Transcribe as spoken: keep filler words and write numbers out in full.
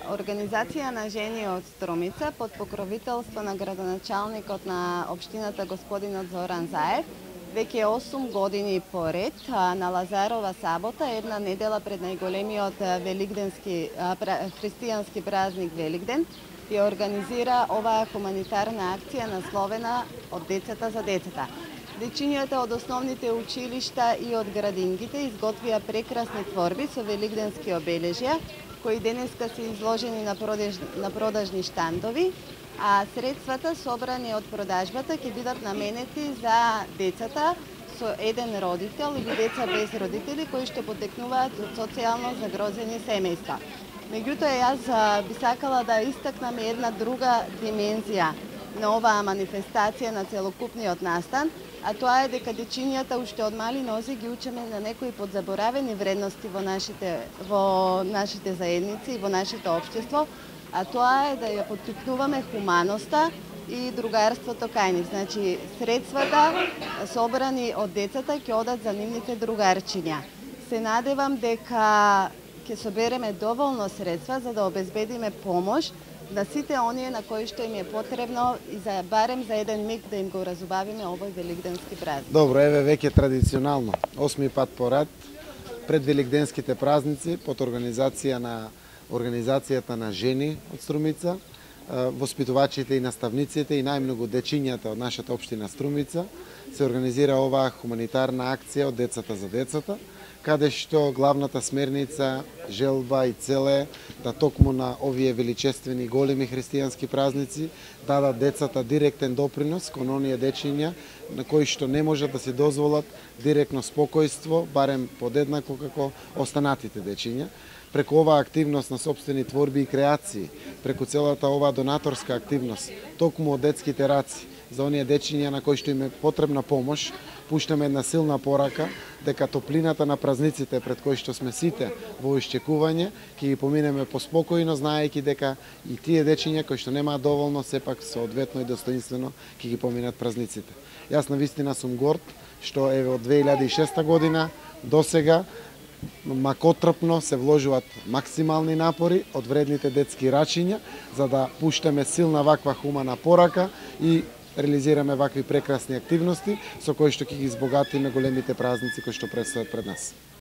Организација на жени од Струмица под покровителство на градоначалникот на општината господинот Зоран Заев веќе осум години поред на Лазарова сабота, една недела пред најголемиот великденски христијански празник Великден, ја организира оваа хуманитарна акција насловена од децата за децата. Дечињата од основните училишта и од градингите изготвија прекрасни творби со великденски обележја, кои денеска се изложени на, продаж, на продажни штандови, а средствата собрани од продажбата ќе бидат наменети за децата со еден родител или деца без родители кои што потекнуваат од социјално загрозени семејства. Меѓутоа, јас би сакала да истакнам една друга димензија на оваа манифестација на целокупниот настан, а тоа е дека дечињата уште од мали нози ги учиме на некои подзаборавени вредности во нашите, во нашите заедници и во нашето општество, а тоа е да ја поттикнуваме хуманоста и другарството кај нив. Значи, средствата собрани од децата ќе одат за нивните другарчиња. Се надевам дека ќе собереме доволно средства за да обезбедиме помош на сите оние на кои што им е потребно и за барем за еден миг да им го разубавиме овој великденски празник. Добро, еве веќе традиционално, осми пат поред, пред великденските празници, под организација на Организацијата на жени од Струмица, воспитувачите и наставниците и најмногу дечињата од нашата општина Струмица, се организира оваа хуманитарна акција од децата за децата, каде што главната смерница, желба и цел е да токму на овие величествени големи христијански празници дадат децата директен допринос кон оние дечиња на кои што не можат да си дозволат директно спокојство, барем подеднакво како останатите дечиња. Преку оваа активност на сопствени творби и креации, преку целата оваа донаторска активност, токму од детските раци, за оние дечиња на кои што им е потребна помош, пуштаме една силна порака дека топлината на празниците пред кои што сме сите во исчекување, ќе ги поминеме поспокојно, знаејќи дека и тие дечиња кои што немаат доволно, сепак соодветно и достоинствено ќе ги поминат празниците. Јас навистина сум горд што еве од две илјади и шеста година до сега макотрпно се вложуваат максимални напори од вредните детски рачиња за да пуштаме силна ваква хумана порака и реализираме вакви прекрасни активности со кои што ќе ги избогатиме големите празници кои што предстојат пред нас.